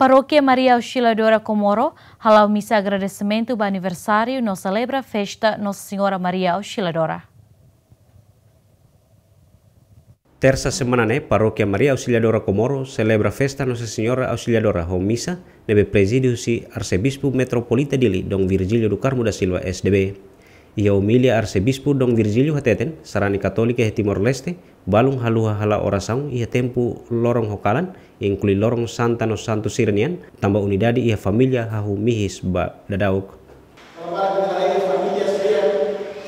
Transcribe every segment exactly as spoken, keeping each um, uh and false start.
Parókia Maria Auxiliadora Comoro hala'o misa agradesimentu ba aniversáriu no selebra festa Nossa Senhora Maria Auxiliadora. Tersa semana ne'e, Parókia Maria Auxiliadora Comoro selebra festa Nossa Senhora Auxiliadora ho misa ne'ebé prezide husi Arsebispu Metropolita Dili, Dom Virgílio do Carmo da Silva, S D B. Iha omilia Arsebispu Dom Virgílio hateten, sarani katólika iha Timor-Leste balun haluha halo orasaun iha tempu loron ho kalan, inklui loron Santa no Santu sira-nian, tanba unidade iha família hahú mihis ba daudauk. Agora, iha família sira,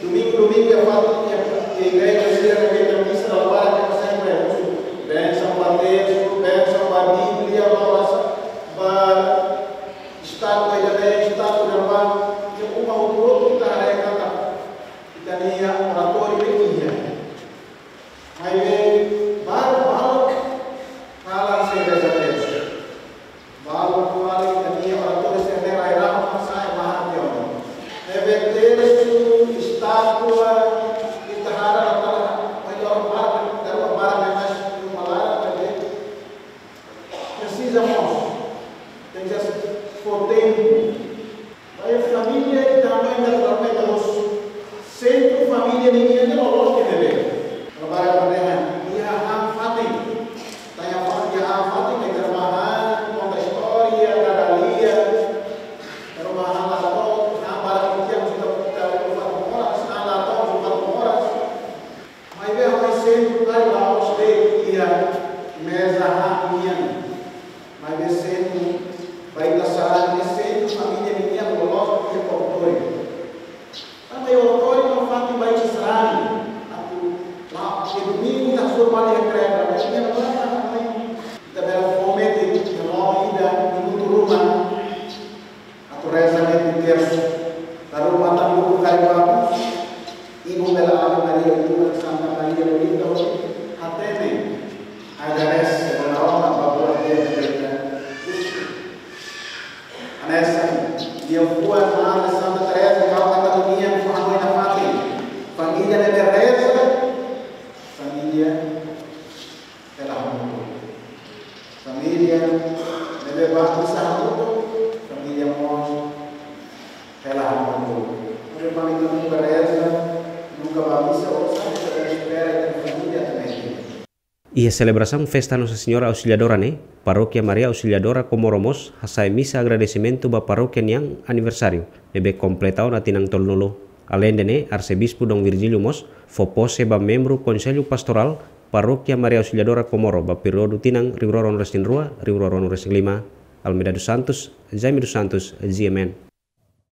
domingu, domingu iha fatin, iha, iha igreja sira, iha misa, agora, iha sempre, bensaun ba testu, bensaun ba Bíblia, ba orasaun, ba estátua, iha estátua, ba, iha uma outro, outro, ita haree katak ita-nia oratóriu ne'e iha. Maibé, balu, balu, kalan sei reza testu. Balu fali ita-nia oratóriu sira ne'e rai-rahun, sa'e mahar tiha ona. Ne'ebé testu, estátua, ita haree la tala, oi lor bar, daru bar ne'e mais uma laran, ne'ebé presiza mós, tenke fó tempu. Ba iha família, ita aumenta, aumenta os sentru família ninian ne'e loloos ne'ebé. Trabalha ba dehan, iha han-fatin. Tanya fa-, iha han-fatin, ita ba han, konta istória, dada lia. Ita ba han la to'o, han barak ita, ita, ita, ita, han la to'o, ita, ita. Maibé ha'u sentru kai la'ós de'it iha meza han nian. Maibé sentru ba ita sarani ne'e sentru família nian loloos iha oratóriu. Tanba iha oratóriu ne'e fatin ba ita sarani. Atu la, iha domingu ita sudah balik iha kreda, maibé iha domingu ita bele fó metin, iha loron ida, minutu ruma. Atu reza ne'e di tersu. Lalu matan buku kayu bagus. Ibu bela Ave Maria, Ibu Santa Maria, Lolinda, hatene. Agradese, Dona Roma, ba buat di'ak ne'ebé ita. Hanesan, iha fuan Madre Santa Teresa, Calcata nian, fó hanoin nafatin. Família ne'ebé reza, família hela hamutuk. Família ne'ebé bá misa hamutuk, família mós hela hamutuk. Maibé ita nunka reza, nunka bá misa, oinsá ita espera ita-nia família atu metin. Iha selebrasaun festa Nossa Senhora Auxiliadora ne'e, Parókia Maria Auxiliadora Comoro mós hasa'e misa agradesimentu ba parókia nian aniversáriu ne'ebé kompleta ona tinan tolunulu. Aleinde ne'e, Arsebispu Dom Virgílio mós fó pose ba membru Konsellu Pastorál Parókia Maria Auxiliadora Comoro ba períodu tinan rihun rua ruanulu-resin-rua, rihun rua ruanulu-resin-lima. Almeida dos Santos, Jaime dos Santos, G M N.